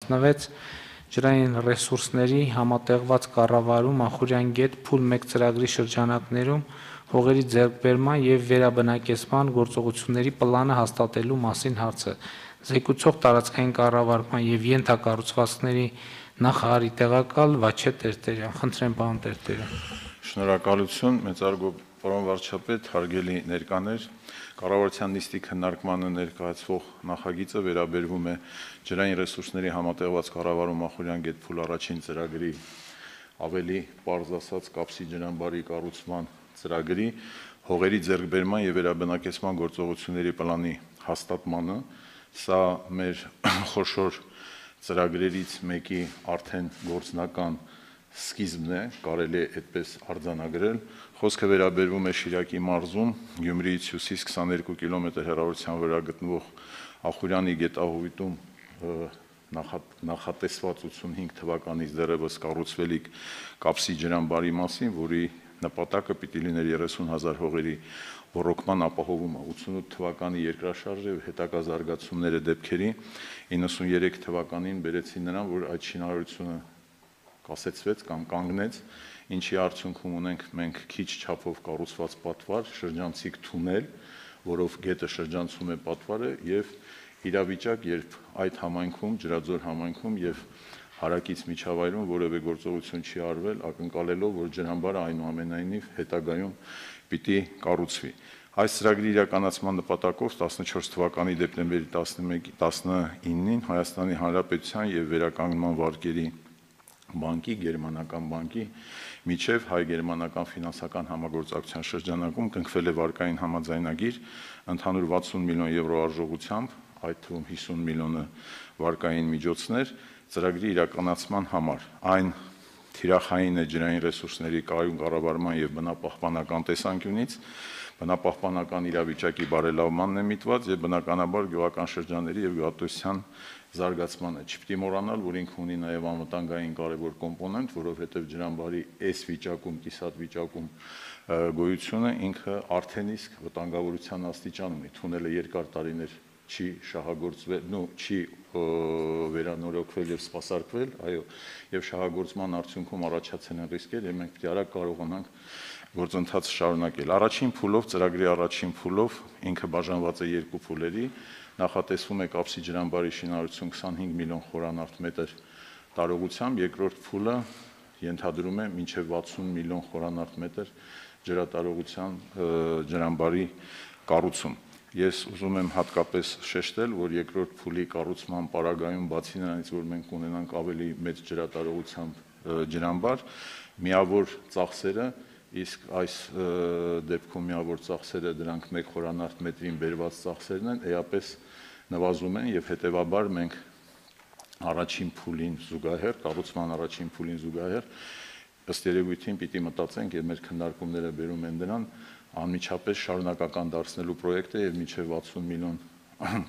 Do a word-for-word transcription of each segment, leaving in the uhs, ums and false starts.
տասնվեց ջրային ռեսուրսների համատեղված կառավարում Մախուրյան գետ փուլ մեկ ծրագրի շրջանակներում հողերի ձեռքբերման և վերաբնակեցման գործողությունների պլանը հաստատելու մասին հարցը։ Զեկուցող տարածքային կառավարման և ենթակառուցվածքների նախարարի տեղակալ Վաչե Տերտերյան։ Խնդրեմ, պարոն Տերտերյան։ Շնորհակալություն, մեծարգո պարոն վարչապետ, հարգելի ներկաներ, կառավարության նիստի քննարկմանը ներկայացվող նախագիծը վերաբերվում է ջրային ռեսուրսների համատեղված կառավարում Մախուրյան գետ փուլ առաջին ծրագրի, ավելի պարզ ասած կապսի ջրամբարի կառուցման ծրագրի, հողերի ձեռքբերման և վերաբնակեցման գործողությունների պլանի հաստատմանը։ Սա մեր խոշոր ծրագրերից մեկի արդեն գործնական սկիզբն է, կարելի է այդպես արձանագրել։ Խոսքը վերաբերվում է Շիրակի մարզում Գյումրիից հյուսիս քսաներկու կիլոմետր հեռավորության վրա գտնվող Ախուրյանի գետահովիտում նախատեսված ութսունհինգ թվականից դեռևս կառուցվելիք կապսի ջրամբարի մասին, որի նպատակը պիտի լիներ երեսուն հազար հողերի ոռոգման ապահովումը, ութսունութ թվականի երկրաշարժը և հետագա զարգացումները դեպքերի, իննսունյերեք թվականին բերեցին նրան, որ այդ շինարարությունը կասեցվեց կամ կանգնեց, ինչի արդյունքում ունենք մենք քիչ չափով կառուցված պատվար, շրջանցիկ թունել, որով գետը շրջանցում է պատվարը և իրավիճակ, երբ այդ համայնքում, Ջրաձոր համայնքում և հարակից միջավայրում որևէ գործողություն չի արվել, ակնկալելով, որ ջրամբարը այնուամենայնիվ հետագայում պիտի կառուցվի։ Այս ծրագրի իրականացման նպատակով տասնչորս թվականի դեկտեմբերի տասնինին Հայաստանի Հանրապետության և Վերականգնման վարկերի բանկի, Գերմանական բանկի միջև հայ-գերմանական ֆինանսական համագործակցության շրջանակում կնքվել է վարկային համաձայնագիր ընդհանուր վաթսուն միլիոն եվրո արժողությամբ, այդ թվում հիսուն միլիոնը վարկային միջոցներ ծրագրի իրականացման համար։ Այն թիրախային է ջրային ռեսուրսների կայուն կառավարման և բնապահպանական տեսանկյունից, բնապահպանական իրավիճակի բարելավմանն է միտված և բնականաբար գյուղական շրջանների և գյուղատնտեսության զարգացմանը։ Չպիտի մոռանալ, որ ինքը ունի նաև անվտանգային կարևոր կոմպոնենտ, որովհետև ջրամբարի այս վիճակում, կիսատ վիճակում գոյությունը ինքը արդեն իսկ վտանգավորության աստիճան ունի, թունելը երկար տարիներ չի շահագործվել, նո չի վերանորոգվել և սպասարկվել, այո, և շահագործման արդյունքում առաջացել են ռիսկեր և մենք պիտի արագ կարողանանք գործընթացը շարունակել։ Առաջին փուլով, ծրագրի առաջին փուլով ինքը բաժանված է երկու փուլերի, նախատեսվում է կապսի ջրամբարի շինարարություն քսանհինգ միլիոն խորանարդ տարողությամբ, երկրորդ փուլը ենթադրում է մինչև վաթսուն միլիոն խորանարդ ջրատարողության ջրամբարի կառուցում։ Ես ուզում եմ հատկապես շեշտել, որ երկրորդ փուլի կառուցման պարագայում, բացի նրանից, որ մենք ունենանք ավելի մեծ ջրատարողությամբ ջրամբար, միավոր ծախսերը, իսկ այս դեպքում միավոր ծախսերը դրանք մեկ խորանարդ մետրին բերված ծախսերն են, էապես նվազում են և հետևաբար մենք առաջին փուլին զուգահեռ, կառուցման առաջին փուլին զուգահեռ ըստ երևույթին պիտի մտածենք և մեր քննարկումները բերում են դրան անմիջապես շարունակական դարձնելու պրոյեկտը և մինչև վաթսուն միլիոն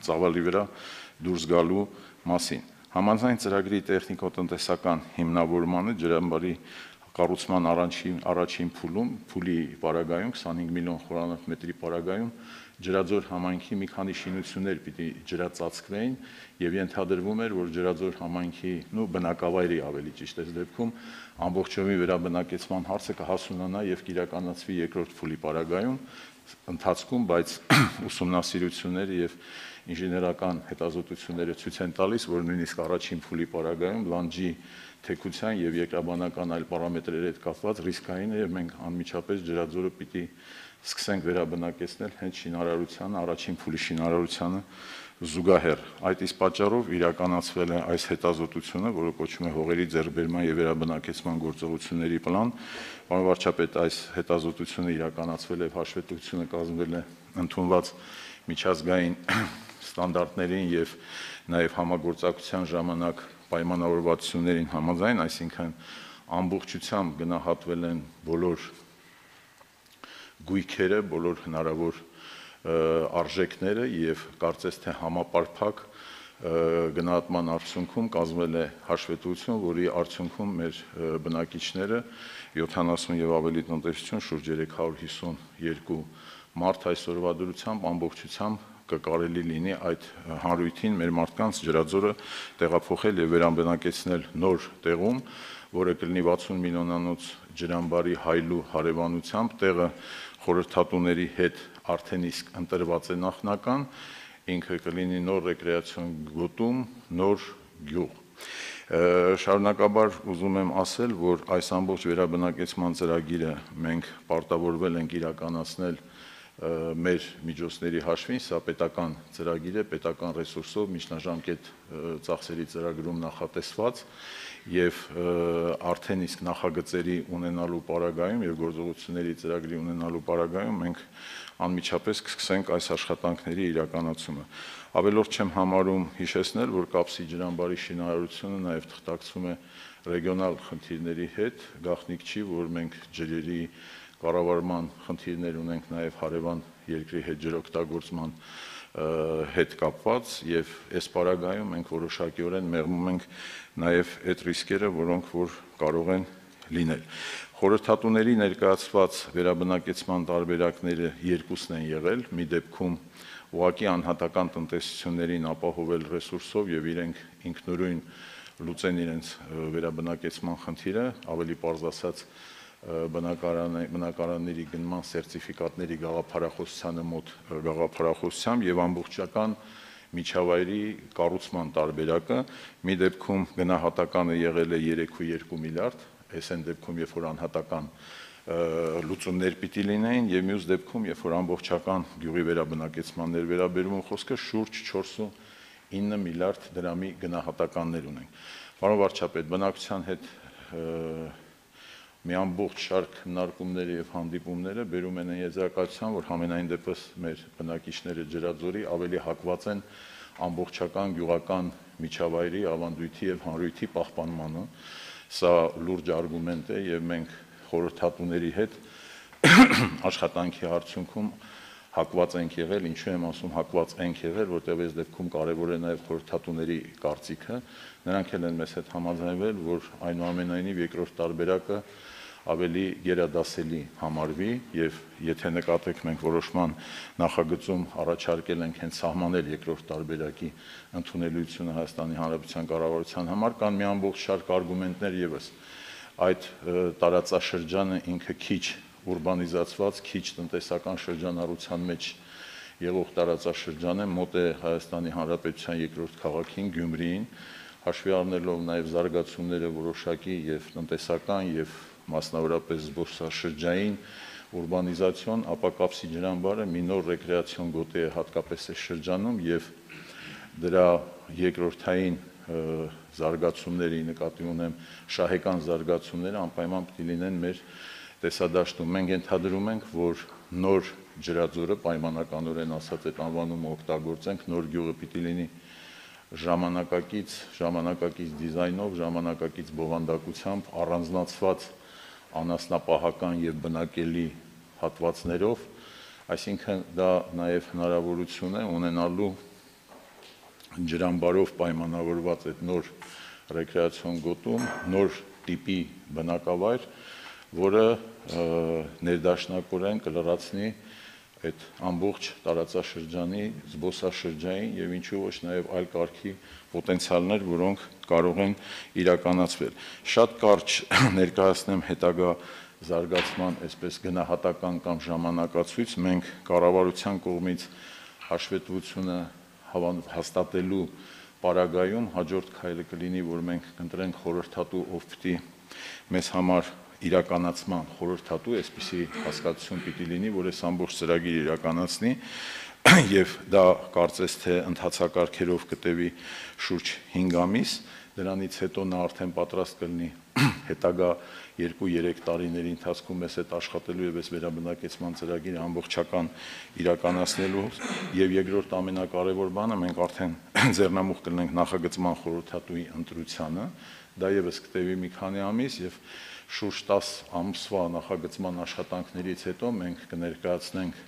ծավալի վրա դուրս գալու մասին։ Համաձայն ծրագրի տեխնիկոտնտեսական հիմնավորմանը ջրամբարի կառուցման առաջին փուլում, փուլի պարագայում, քսանհինգ միլիոն խորանարդ մետրի պարագայում Ջրաձոր համայնքի մի քանի շինություններ պիտի ջրածածկվեին և ենթադրվում էր, որ Ջրաձոր համայնքի բնակավայրի ավելի ճիշտ այս դեպքում ամբողջովին վերաբնակեցման հարցը կհասունանա և կիրականացվի երկրորդ փուլի պարագայում ընթացքում, բայց ուսումնասիրությունները և ինժեներական հետազոտությունները ցույց են տալիս, որ նույնիսկ առաջին փուլի պարագայում լանջի թեքության և երկրաբանական այլ պարամետրերի հետ կապված ռիսկային է և մենք անմիջապես Ջրաձորը պիտի սկսենք վերաբնակեցնել հենց շինարարությանը, առաջին փուլի շինարարությանը զուգահեռ։ Այդ իսկ պատճառով իրականացվել է այս հետազոտությունը, որը կոչվում է հողերի ձեռքբերման և վերաբնակեցման գործողությունների պլան։ Պարոն վարչապետ, այս հետազոտությունը իրականացվել է, հաշվետվությունը կազմվել է ընդունված միջազգային ստանդարտներին և նաև համագործակցության ժամանակ պայմանավորվածություններին համաձայն, այսինքն ամբողջությամբ գնահատվել են բոլոր գույքերը, բոլոր հնարավոր արժեքները և կարծես թե համապարփակ գնահատման արդյունքում կազմվել է հաշվետվություն, որի արդյունքում մեր բնակիչները յոթանասուն և ավելի տնտեսություն շուրջ երեք հարյուր հիսուն երկու մարդ այսօրվա դրությամբ ամբողջությամբ կկարելի լինի այդ հանրույթին մեր մարդկանց ջրաձորը տեղափոխել եւ վերաբնակեցնել նոր տեղում, որը կլինի վաթսուն միլիոնանոց ջրամբարի հայլու հարևանությամբ, տեղը խորհրդատուների հետ արդեն իսկ ընտրված է նախնական, ինքը կլինի նոր ռեկրեացիոն գոտում, նոր գյուղ։ Շարունակաբար ուզում եմ ասել, որ այս ամբողջ վերաբնակեցման ծրագիրը մենք պարտավորվել ենք իրականացնել մեր միջոցների հաշվին, սա պետական ծրագիր է, պետական ռեսուրսով, միջնաժամկետ ծախսերի ծրագրում նախատեսված եւ արդեն իսկ նախագծերի ունենալու պարագայում եւ գործողությունների ծրագրի ունենալու պարագայում մենք անմիջապես կսկսենք այս աշխատանքների իրականացումը։ Ավելորդ չեմ համարում հիշեցնել, որ Կապսի ջրամբարի շինարարությունը նաեւ թղթակցում է ռեգիոնալ խնդիրների հետ, գաղտնիք չի, որ մենք ջրերի կառավարման խնդիրներ ունենք նաեւ հարևան երկրի հետ ջրօգտագործման հետ կապված եւ այս պարագայում մենք որոշակիորեն մեղմում ենք նաեւ այդ ռիսկերը, որոնք որ կարող են լինել։ Խորհրդատուների ներկայացված վերաբնակեցման տարբերակները երկուսն են եղել, մի դեպքում ուղղակի անհատական տնտեսություններին ապահովել ռեսուրսով եւ իրենք ինքնուրույն լուծեն իրենց վերաբնակեցման խնդիրը, ավելի պարզ ասած բնակարանների գնման սերտիֆիկատների գաղափարախոսությանը մոտ գաղափարախոսությամբ եւ ամբողջական միջավայրի կառուցման տարբերակը, մի դեպքում գնահատականը եղել է երեք կόμma երկու միլիարդ, այս այն դեպքում, երբ որ անհատական լուծումներ պիտի լինեին եւ մյուս դեպքում, երբ որ ամբողջական գյուղի վերաբնակեցմաններ վերաբերվում խոսքը շուրջ չորս կόμma ինը միլիարդ դրամի գնահատականներ ունենք։ Պարոն վարչապետ, բնակչության հետ մի ամբողջ շարք քննարկումները եւ հանդիպումները բերում են եզրակացության, որ համենայն դեպս մեր բնակիչները ջրաձորի ավելի հակված են ամբողջական գյուղական միջավայրի, ավանդույթի եւ հանրույթի պահպանմանը։ Սա լուրջ արգումենտ է եւ մենք խորհրդատուների հետ աշխատանքի արդյունքում հակված ենք եղել, ինչու եմ ասում հակված ենք եղել, որտեղ այս դեպքում կարևոր է նաև խորհրդատուների կարծիքը, նրանք էլ են մեզ հետ համաձայնվել, որ այնուամենայնիվ երկրորդ տարբերակը ավելի գերադասելի համարվի եւ եթե նկատեք մենք որոշման նախագծում առաջարկել ենք հենց սահմանել երկրորդ տարբերակի ընդունելությունը Հայաստանի Հանրապետության կառավարության համար, կան մի ամբողջ շարք արգումենտներ եւս։ Այդ տարածաշրջանը ինքը քիչ ուրբանիզացված, քիչ տնտեսական շրջանառության մեջ եղող տարածաշրջան է, մոտ է Հայաստանի Հանրապետության երկրորդ քաղաքին Գյումրիին, հաշվի առնելով նաև զարգացումները որոշակի եւ տնտեսական եւ մասնավորապես զբոսաշրջային ուրբանիզացիոն, ապա Կապսի ջրամբարը մի նոր ռեկրեացիոն գոտի է հատկապես այս շրջանում եւ դրա երկրորդային զարգացումների նկատի ունեմ շահեկան զարգացումները անպայման պետք է լինեն մեր տեսադաշտում։ Մենք ենթադրում ենք, որ նոր ջրաձորը պայմանականորեն ասած այդ անվանումը օգտագործենք, նոր գյուղը պիտի լինի ժամանակակից, ժամանակակից դիզայնով, ժամանակակից բովանդակությամբ, առանձնացված անասնապահական եւ բնակելի հատվածներով, այսինքն դա նաեւ հնարավորություն է ունենալու ջրամբարով պայմանավորված այդ նոր ռեկրեացիոն գոտում, նոր տիպի բնակավայր, որը ներդաշնակորեն կլրացնի այդ ամբողջ տարածաշրջանի զբոսաշրջային եւ ինչու ոչ նաեւ այլ կարգի պոտենցիալներ, որոնք կարող են իրականացվել։ Շատ կարճ ներկայացնեմ հետագա զարգացման այսպես գնահատական կամ ժամանակացույց, մենք կառավարության կողմից հաշվետվությունը հաստատելու պարագայում հաջորդ քայլը կլինի, որ մենք կընտրենք խորհրդատու, ով պիտի մեզ համար իրականացման խորհրդատու, այսպիսի հասկացություն պիտի լինի, որ այս ամբողջ ծրագիրը իրականացնի եւ դա կարծես թե ընթացակարգերով կտևի շուրջ հինգ ամիս, դրանից հետո նա արդեն պատրաստ կլինի հետագա երկու-երեք տարիների ընթացքում մեզ հետ աշխատելու եւ այս վերաբնակեցման ծրագիրը ամբողջական իրականացնելու եւ երկրորդ ամենակարևոր բանը մենք արդեն ձեռնամուխ կլինենք նախագծման խորհրդատուի ընտրությանը, դա եւս կտևի մի քանի ամիս եւ շուրջ տասը ամսվա նախագծման աշխատանքներից հետո մենք կներկայացնենք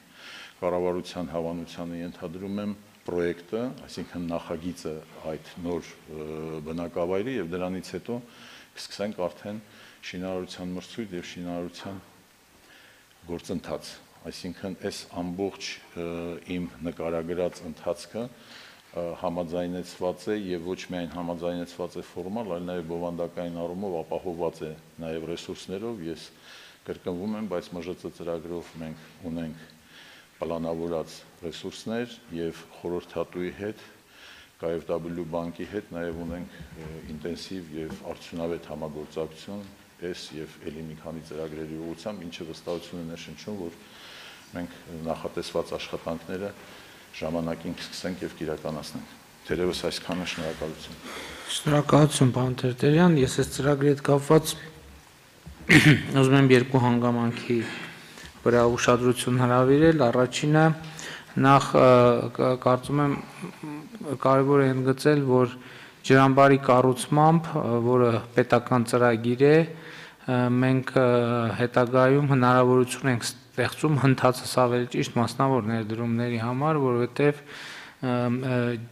կառավարության հավանությանը ենթադրում եմ պրոյեկտը, այսինքն նախագիծը այդ նոր բնակավայրի եւ դրանից հետո կսկսենք արդեն շինարարության մրցույթ եւ շինարարության գործընթաց։ այսինքն այս ամբողջ իմ նկարագրած ընթացքը համաձայնեցված է եւ ոչ միայն համաձայնեցված է ֆորմալ, այլ նաեւ բովանդակային առումով ապահովված է նաեւ ռեսուրսներով։ Ես կրկնվում եմ, բայց ՄԺՑ ծրագրով մենք ունենք պլանավորած ռեսուրսներ եւ խորհրդատուի հետ, K F W բանկի հետ նաեւ ունենք ինտենսիվ եւ արդյունավետ համագործակցություն այս եւ ելի մի քանի ծրագրերի ուղղությամբ, ինչը վստահություն է ներշնչում, որ մենք նախատեսված աշխատանքները ժամանակին կսկսենք եւ կիրականացնենք։ Թերևս այսքանը, շնորհակալություն։ Շնորհակալություն, պարոն Տերտերյան, ես այս ծրագրի հետ կապված ուզում եմ երկու հանգամանքի վրա ուշադրություն հրավիրել։ Առաջինը նախ կարծում եմ կարևոր է ընդգծել, որ ջրամբարի կառուցմամբ, որը պետական ծրագիր է, մենք հետագայում հնարավորություն ենք ստեղծում հնդածս ավելի ճիշտ մասնավոր ներդրումների համար, որովհետև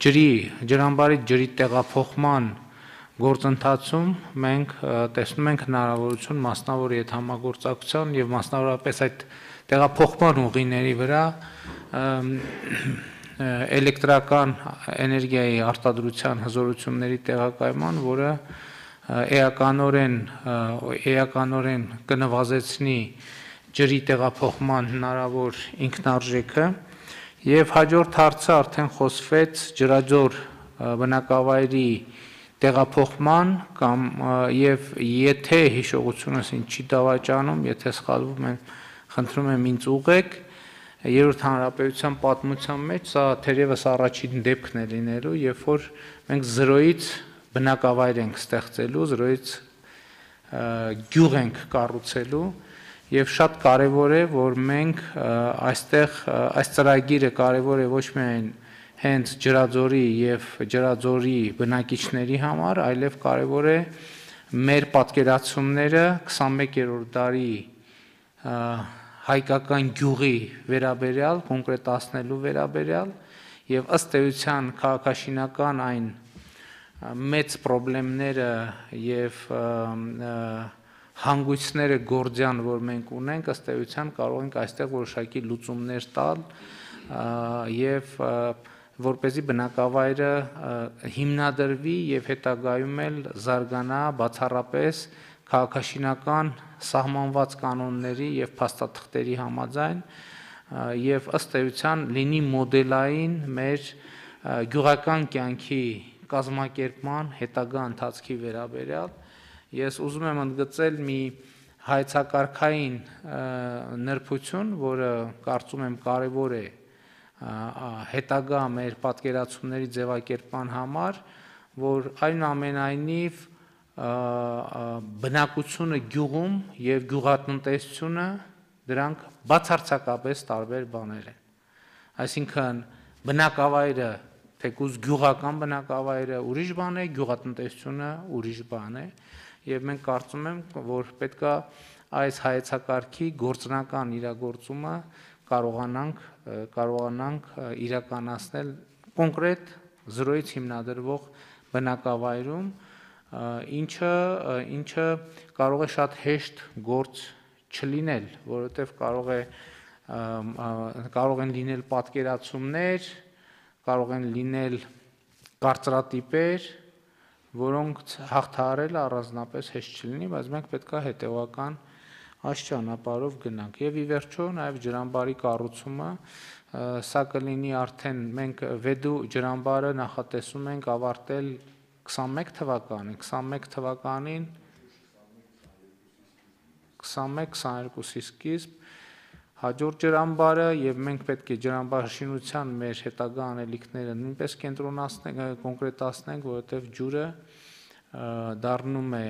ջրի, ջրամբարի ջրի տեղափոխման գործընթացում մենք տեսնում ենք հնարավորություն մասնավոր հետ համագործակցության եւ մասնավորապես այդ տեղափոխման ուղիների վրա էլեկտրական էներգիայի արտադրության հզորությունների տեղակայման, որը էականորեն էականորեն կնվազեցնի ջրի տեղափոխման հնարավոր ինքնարժեքը եւ հաջորդ հարցը արդեն խոսվեց ջրաձոր բնակավայրի տեղափոխման կամ եւ եթե հիշողությունս ինձ չի դավաճանում, եթե սխալվում եմ, խնդրում եմ ինձ ուղղեք, Երրորդ հանրապետության պատմության մեջ սա թերևս առաջին դեպքն է լինելու, երբ որ մենք զրոյից բնակավայր ենք ստեղծելու, զրոյից գյուղ ենք կառուցելու եւ շատ կարեւոր է, որ մենք այստեղ այս ծրագիրը կարեւոր է ոչ միայն հենց ջրաձորի եւ ջրաձորի բնակիչների համար, այլև կարեւոր է մեր պատկերացումները քսանմեկերորդ դարի հայկական գյուղի վերաբերյալ, կոնկրետացնելու վերաբերյալ եւ ըստ էության քաղաքաշինական այն մեծ խնդիրները եւ հանգույցները գործյան, որ մենք ունենք, ըստ էության կարող ենք այստեղ որոշակի լուծումներ տալ եւ որպեսզի բնակավայրը հիմնադրվի եւ հետագայում էլ զարգանա բացառապես քաղաքաշինական սահմանված կանոնների եւ փաստաթղթերի համաձայն եւ ըստ էության լինի մոդելային մեր գյուղական կյանքի կազմակերպման հետագա ընթացքի վերաբերյալ։ Ես ուզում եմ ընդգծել մի հայեցակարգային նրբություն, որը կարծում եմ կարևոր է հետագա մեր պատկերացումների ձևակերպման համար, որ այնուամենայնիվ բնակությունը գյուղում եւ գյուղատնտեսությունը դրանք բացարձակապես տարբեր բաներ են։ Այսինքն բնակավայրը, թեկուզ գյուղական բնակավայրը ուրիշ բան է, գյուղատնտեսությունը ուրիշ բան է եւ մենք կարծում ենք, որ պետքա այս հայեցակարգի գործնական իրագործումը կարողանանք կարողանանք իրականացնել կոնկրետ զրոյից հիմնադրվող բնակավայրում, ինչը ինչը կարող է շատ հեշտ գործ չլինել, որովհետև կարող է կարող են լինել պատկերացումներ, կարող են լինել կարծրատիպեր, որոնք հաղթահարելը առանձնապես հեշտ չլինի, բայց մենք պետք է հետևական այս ճանապարհով գնանք։ Եվ ի վերջո նաև ջրամբարի կառուցումը, սա կլինի արդեն մենք Վեդու ջրամբարը նախատեսում ենք ավարտել քսանմեկ թվականին, քսանմեկ թվականին քսանմեկ քսաներկուսի սկիզբ հաջորդ ջրամբարը եւ մենք պետք է ջրամբարշինության մեր հետագա անելիքները նույնպես կենտրոնացնենք, կոնկրետացնենք, որովհետեւ ջուրը դառնում է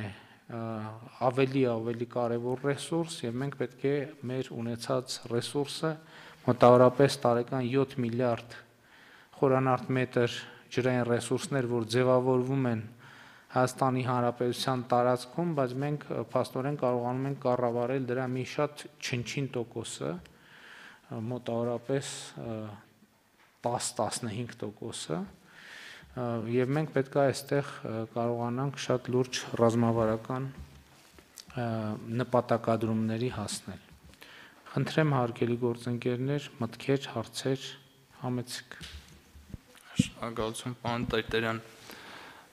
ավելի ավելի կարևոր ռեսուրս եւ մենք պետք է մեր ունեցած ռեսուրսը մոտավորապես տարեկան յոթ միլիարդ խորանարդ մետր ջրային ռեսուրսներ, որ ձևավորվում են Հայաստանի Հանրապետության տարածքում, բայց մենք փաստորեն կարողանում ենք կառավարել դրա մի շատ չնչին տոկոսը, մոտավորապես տաս տասնհինգ տոկոսը, եւ մենք պետք է այստեղ կարողանանք շատ լուրջ ռազմավարական նպատակադրումների հասնել։ Խնդրեմ հարգելի գործընկերներ, մտքեր, հարցեր, համեցեք։ Շնորհակալություն, պարոն Տերտերյան։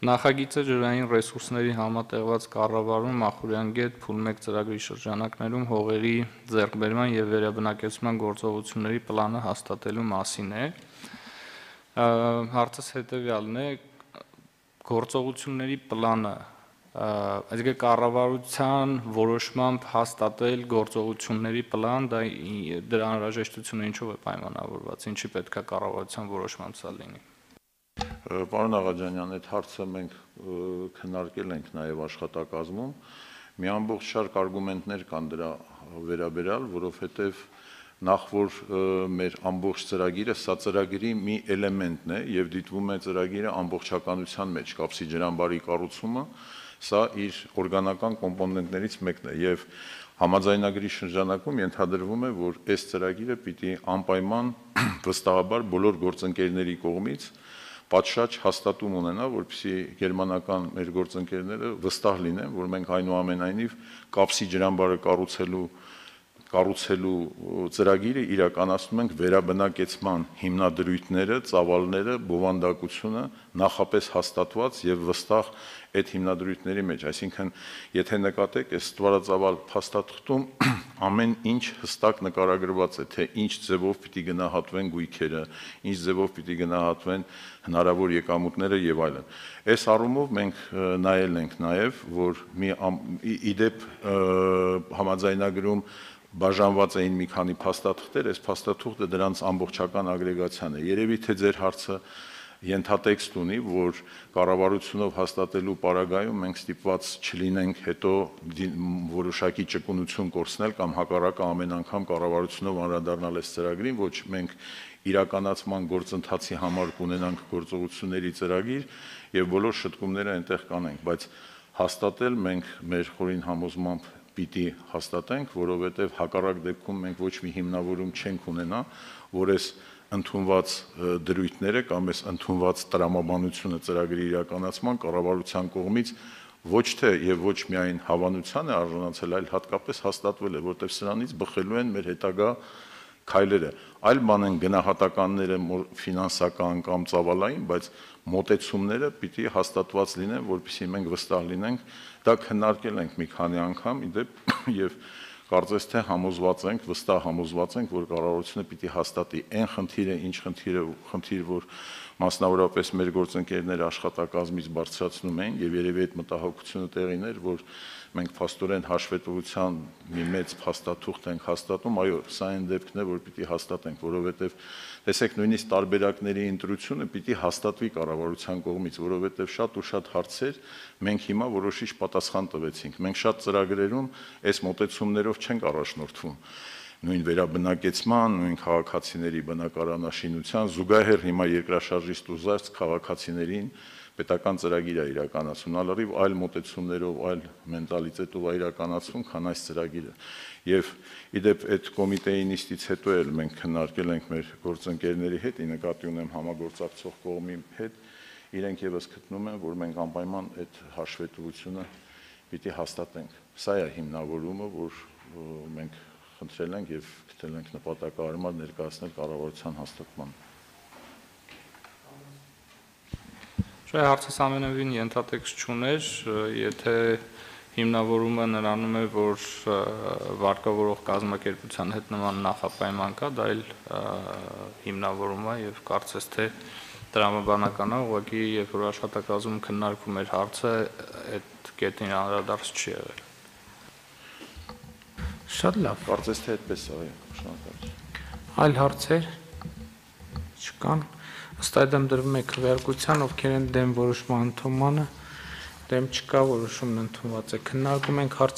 Նախագիծը ջրային ռեսուրսների համատեղված կառավարում Մախուրյան գետ փուլ մեկ ծրագրի շրջանակներում հողերի ձեռքբերման եւ վերաբնակեցման գործողությունների պլանը հաստատելու մասին է։ Հարցս հետեւյալն է. գործողությունների պլանը, այսինքն կառավարության որոշմամբ հաստատել գործողությունների պլան, դա դրա անհրաժեշտությունը ինչով է պայմանավորված, ինչի պետք է կառավարության որոշմամբ սա լինի։ Պարոն Աղաջանյան, այդ հարցը մենք քննարկել ենք նաև աշխատակազմում, մի ամբողջ շարք արգումենտներ կան դրա վերաբերյալ, որովհետև նախ որ մեր ամբողջ ծրագիրը, սա ծրագրի մի էլեմենտն է եւ դիտվում է ծրագիրը ամբողջականության մեջ, կապսի ջրամբարի կառուցումը, սա իր օրգանական կոմպոնենտներից մեկն է եւ համաձայնագրի շրջանակում ենթադրվում է, որ այս ծրագիրը պիտի անպայման վստահաբար բոլոր գործընկերների կողմից պատշաճ հաստատում ունենա, որպեսզի գերմանական մեր գործընկերները վստահ լինեն, որ մենք այնուամենայնիվ կապսի ջրամբարը կառուցելու կառուցելու ծրագիրը իրականացնում ենք վերաբնակեցման հիմնադրույթները, ծավալները, բովանդակությունը նախապես հաստատված եւ վստահ այդ հիմնադրույթների մեջ, այսինքն եթե նկատեք, այս ստվարածավալ փաստաթղթում ամեն ինչ հստակ նկարագրված է, թե ինչ ձևով պիտի գնահատվեն գույքերը, ինչ ձևով պիտի գնահատվեն հնարավոր եկամուտները եւ այլն։ Այս առումով մենք նայել ենք նաեւ, որ մի իդեպ համաձայնագրում բաժանված էին մի քանի փաստաթղթեր, այս փաստաթուղթը դրանց ամբողջական ագրեգացիան է։ Երևի թե ձեր հարցը ենթատեքստ ունի, որ կառավարությունով հաստատելու պարագայում մենք ստիպված չլինենք հետո որոշակի ճկունություն կորցնել կամ հակառակը ամեն անգամ կառավարությունով անդրադառնալ այս ծրագրին, ոչ մենք իրականացման գործընթացի համար կունենանք գործողությունների ծրագիր եւ բոլոր շտկումները այնտեղ կանենք, բայց հաստատել մենք մեր խորին համոզմամբ պիտի հաստատենք, որովհետև հակառակ դեպքում մենք ոչ մի հիմնավորում չենք ունենա, որ այս ընդունված դրույթները կամ այս ընդունված տրամաբանությունը ծրագրի իրականացման կառավարության կողմից ոչ թե եւ ոչ միայն հավանության է արժանացել, այլ հատկապես հաստատվել է, որտեղ սրանից բխելու են մեր հետագա քայլերը։ Այլ բան են գնահատականները ֆինանսական կամ ծավալային, բայց մոտեցումները պիտի հաստատված լինեն, որպեսզի մենք վստահ լինենք, դա քննարկել ենք մի քանի անգամ, իդեպ եւ կարծես թե համոզված ենք, վստահ համոզված ենք, որ կառավարությունը պիտի հաստատի այն խնդիրը, ինչ խնդիրը, խնդիր, որ մասնավորապես մեր գործընկերները աշխատակազմից բարձրացնում են եւ երևի այդ մտահոգությունը տեղին էր, որ մենք փաստորեն հաշվետվության մի մեծ փաստաթուղթ ենք հաստատում, այո, սա այն դեպքն է, որ պիտի հաստատենք, որովհետեւ տեսեք, նույնիսկ տարբերակների ընտրությունը պիտի հաստատվի կառավարության կողմից, որովհետեւ շատ ու շատ հարցեր մենք հիմա որոշիչ պատասխան տվեցինք։ Մենք շատ ծրագրերում այս մոտեցումներով չենք առաջնորդվում։ Նույն վերաբնակեցման, նույն քաղաքացիների բնակարանաշինության զուգահեռ հիմա երկրաշարժից դուրս քաղաքացիներին պետական ծրագիր է իրականացում, ալրիվ այլ մոտեցումներով, այլ մենտալիտետով է իրականացվում, քան այս ծրագիրը։ Եվ իդեպ այդ կոմիտեի նիստից հետո էլ մենք քննարկել ենք մեր գործընկերների հետ, ի նկատի ունեմ համագործակցող կողմի հետ, իրենք եւս գտնում են, որ մենք անպայման այդ հաշվետվությունը պիտի հաստատենք։ Սա է հիմնավորումը, որ մենք խնդրել ենք եւ գտել ենք նպատակահարմար ներկայացնել կառավարության հաստատման։ Շա հարցս ամենևին ենթատեքստ չուներ, եթե հիմնավորումը նրանում է, որ վարկավորող կազմակերպության հետ նման նախապայման կա, դա էլ հիմնավորում է եւ կարծես թե տրամաբանական է, ուղղակի երբ որ աշխատակազմում քննարկվում էր հարցը, այդ կետին անդրադարձ չի եղել։ Շատ լավ։ Կարծես թե այդպես է, շնորհակալ։ Այլ հարցեր չկան։ Ըստ այդմ դրվում է քվեարկության, ովքեր են դեմ որոշման ընդունմանը, դեմ չկա, որոշումն ընդունված է։ Քննարկում ենք հարցը